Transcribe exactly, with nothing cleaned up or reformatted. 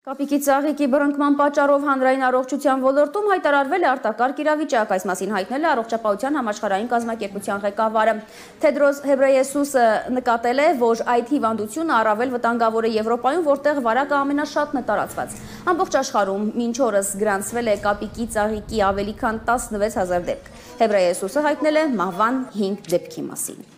Կապիկի ծաղիկի բռնկման պատճառով հանրային առողջության ոլորտում հայտարարվել է արտակարգ իրավիճակ, այս մասին հայտնել է Առողջապահության համաշխարհային կազմակերպության ղեկավարը։ Թեդրոս Ղեբրեյեսուսը նկատել է, որ այդ հիվանդությունը առավել վտանգավոր է Եվրոպայում, որտեղ վարակը ամենաշատն է տարածված։ Ամբողջ աշխարհում մինչ օրս գրանցվել է կապիկի ծաղիկի ավելի քան տասնվեց հազար դեպք։ Ղեբրեյեսուսը հայտնել է մահվան հինգ դեպքի մասին։